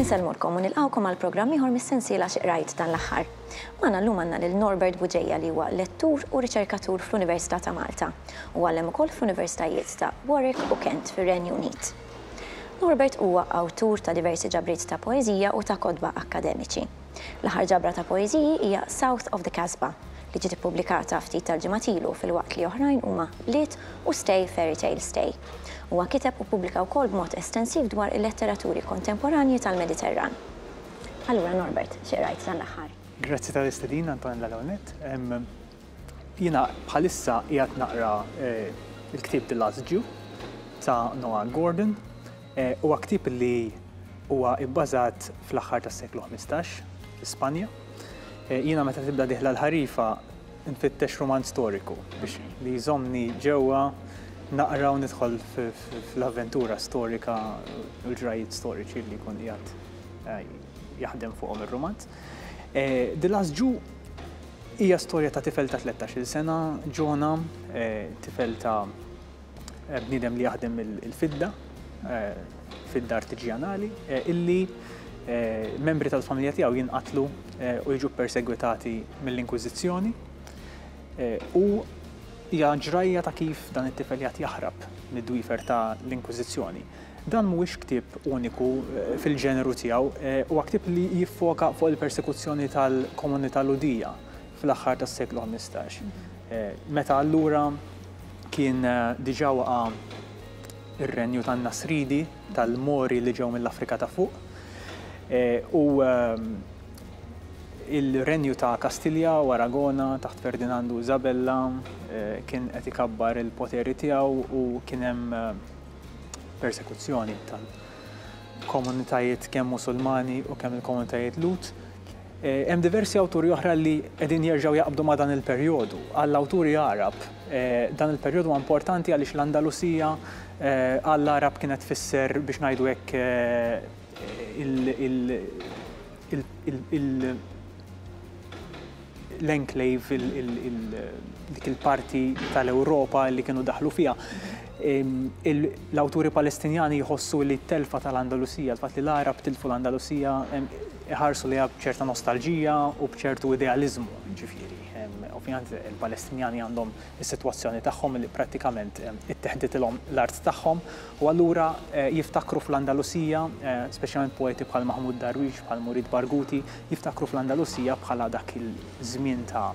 Insellmulkom u nilqgħukom għal programm ieħor mis-sensiela Xi Qrajt dan l-aħħar. Magħna llum għandna lil Norbert Bugeja li huwa lettur u riċerkatur fl-Università ta' Malta. Huwa għallem ukoll fl-Universitajiet ta' Warwick u Kent fir-Renju Unit. Norbert huwa awtur ta' diversi ġabriet ta' poeżija u ta' kotba akkademiċi. L-aħħar ġabra ta' poeżiji hija South of the Casbah, li ġiet ippubblikata ftit tal-ġimgħat ilu filwaqt li oħrajn huma Bliet u Stay Fairy Tale Stay. Huwa kiteb u ppubblika wkoll b'mod estensiv dwar il-letteraturi kontemporanji tal-Mediterran. Allura Norbert, xi qrajt dan l-aħħar? Grazzi tal-istedina Antonella l-ewwel nett. Jiena bħalissa qiegħed naqra l-ktieb The Last Jew ta' Noah Gordon. Huwa ktieb li huwa bbażat fl-aħħar tas-seklu 15 fi Spanja. Jiena meta tibda dieħla l-ħarifa nfittex rumanz storiku biex li jżommni ġewwa naqra u nidħol fl-avventura storika u l-ġrajjiet storiċi li jkun qiegħed jaħdem fuqhom ir-rumanz. The Last Jew Hija storja ta' tifel ta' 13-il sena, Ġona, tifel ta' bniedem li jaħdem il-fidda, fidda artiġjanali, illi membri tal-familja tiegħu jinqatlu u jiġu ppersegwitati mill-Inkwiżizzjoni. U hija ġrajja ta' kif dan it-tifel qiegħed jaħrab mid-dwiefer ta' l-Inkwiżizzjoni. Dan mhuwiex ktieb uniku fil-ġeneru tiegħu, huwa ktieb li jiffoka fuq il-persekuzzjoni tal-komunità Lhudija fl-aħħar tas-seklu 15. Meta allura kien diġà waqa' r-renju tan-Nasridi, tal-Mori li ġew mill-Afrika ta' Fuq, u il-renju ta' Kastilja u Aragona taħt Ferdinandu u Isabella kien qed ikabbar il-poteri tiegħu u kien hemm persekuzzjoni tal-komunitajiet kemm Musulmani u kemm il-komunitajiet Lhud. Eh, hemm diversi awturi oħra li qegħdin jerġgħu jaqbdu ma' dan il-perjodu. Għall-awturi Għarab, eh, dan il-perjodu huwa importanti għaliex l-Andalusija eh, għall-Għarab kienet tfisser biex ngħidu hekk il l-enclave, dik il-parti tal-Ewropa li kienu daħlu fiha. L-awturi Palestinjani jħossu li t-telfa tal-Andalusija, l-fatt li l-Għarab tilfu l-Andalusija, iħarsu lejha b'ċerta nostalġija u b'ċertu idealiżmu, ġifieri. Ovvjament il-Palestinjani għandhom is-sitwazzjoni tagħhom li prattikament itteħditilhom l-art tagħhom u allura jiftakru fl-Andalusija, speċjalment poeti bħal Mahmoud Darwish, bħal Murid Barghouti, jiftakru fl-Andalusija bħala dak il-żmien ta'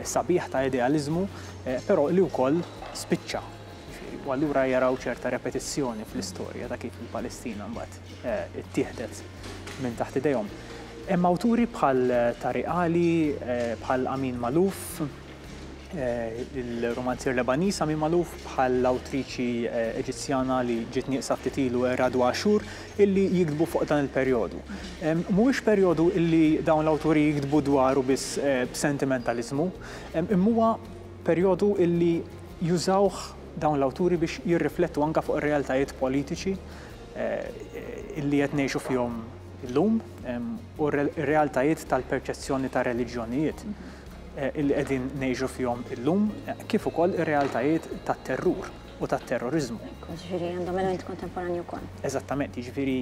sabiħ ta' idealiżmu, però li wkoll spiċċa. U allura jaraw ċerta repetizzjoni fl-istorja ta' kif il-Palestina mbagħad ittieħdet minn taħt idejhom. Hemm awturi bħal Tariq Ali, bħal Amin Maalouf, il-romanzier Lebaniż Amin Maalouf bħall-awtriċi Eġizzjana li ġiet nieqsa ftit ilu Radwa Ashur illi jiktbu fuq dan il-perjodu. Mhuwiex perjodu illi dawn l-awturi jiktbu dwaru biss b'sentimentaliżmu, imma huwa perjodu illi jużawh dawn l-awturi biex jirriflettu anke fuq ir-realtajiet politiċi illi qed ngħixu fihom illum u r-realtajiet tal-perċezzjoni ta' reliġjonijiet. Li qegħdin ngħixu fihom illum, kif ukoll ir-realtajiet tat-terrur u tat-terroriżmu. Ekku, jiġifieri għandhom element kontemporanju wkoll. Eżattament, jiġifieri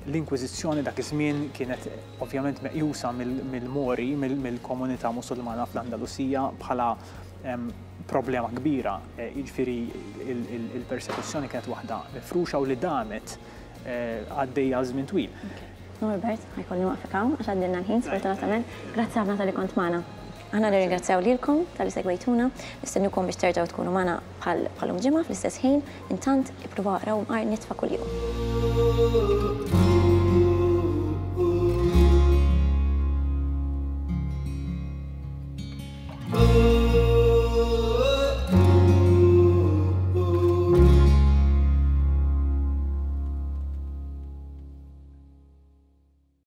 l-Inkwiżizzjoni dak iż-żmien kienet ovvjament meqjusa mill-Mori, mill-komunità Musulmana fl-Andalusija bħala problema kbira, jiġifieri il-persekuzzjoni kienet waħda mifruxa u li damet għaddejja għal żmien twil. Norbert, ħa jkolli nwaqfek hawn għax għaddilna l-ħin sfortunatament. Grazzi ħafna talli kont magħna. Aħna nirringrazzjaw lilkom talli segwejtuna, nistennukom biex terġgħu tkunu magħna bħal bħalum ġimgħa fl-istess ħin, intant ippruvaw aqraw imqar nitfa kuljum.